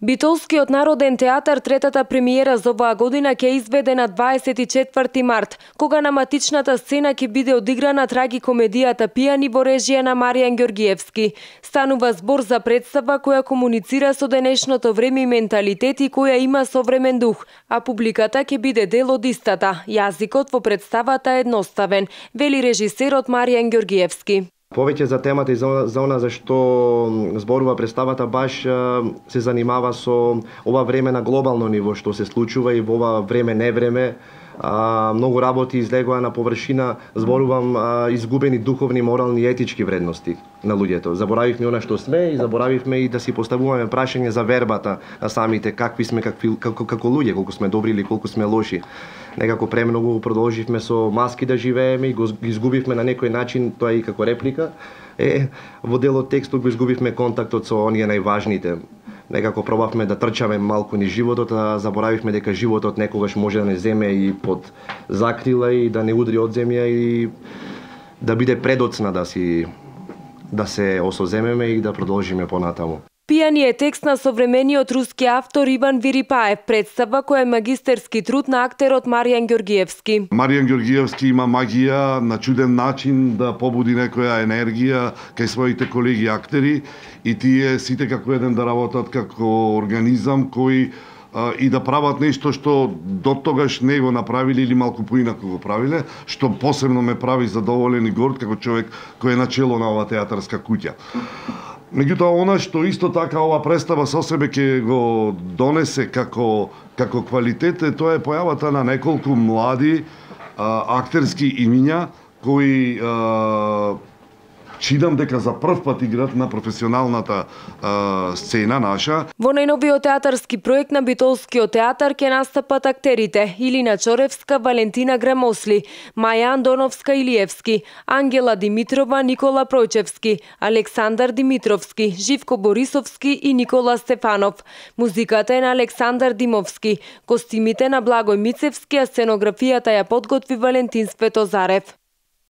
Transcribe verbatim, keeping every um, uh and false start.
Битолскиот народен театар третата премиера за оваа година ќе изведе на дваесет и четврти март, кога на матичната сцена ќе биде одиграна трагикомедијата Пијани во режија на Маријан Ѓоргиевски. Станува збор за представа која комуницира со денешното време и менталитет и која има современ дух, а публиката ќе биде дел од истата. Јазикот во представата е едноставен, вели режисерот Маријан Ѓоргиевски. Повеќе за темата и за, за она за што зборува представата баш се занимава со ова време на глобално ниво што се случува и во ова време невреме. А, многу работи излегува на површина, зборувам а, изгубени духовни, морални и етички вредности на луѓето. Заборавивме она што сме и заборавивме и да си поставуваме прашање за вербата на самите, какви сме какви, како, како луѓе, колку сме добри или колку сме лоши. Некако премногу продолживме со маски да живееме и го изгубивме на некој начин, тоа и како реплика. Е, во делот текстот го изгубивме контактот со оние најважните. Некако пробавме да трчаме малку низ животот, а заборавивме дека животот некогаш може да не земе и под закрила и да не удри од земја и да биде предоцна да си да се осоземеме и да продолжиме понатаму. Пијани е текст на современиот руски автор Иван Вирипаев, представа која е магистерски труд на актерот Маријан Ѓоргиевски. Маријан Ѓоргиевски има магија на чуден начин да побуди некоја енергија кај своите колеги актери и тие сите како еден да работат како организам кој а, и да прават нешто што до тогаш не го направиле или малку поинаку го правиле, што посебно ме прави задоволен и горд како човек кој е начело на оваа театарска куќа. Меѓутоа, она што исто така ова представа со себе ќе го донесе како, како квалитет, тоа е појавата на неколку млади а, актерски имиња кои а, читам дека за прв пат играат на професионалната а, сцена наша. Во најновиот театарски проект на Битолскиот театар ќе настапат актерите Илина Чоревска, Валентина Грамосли, Маја Андоновска Илиевски, Ангела Димитрова, Никола Пројчевски, Александар Димитровски, Живко Борисовски и Никола Стефанов. Музиката е на Александар Димовски, костимите на Благој Мицевски, а сценографијата ја подготви Валентин Светозарев.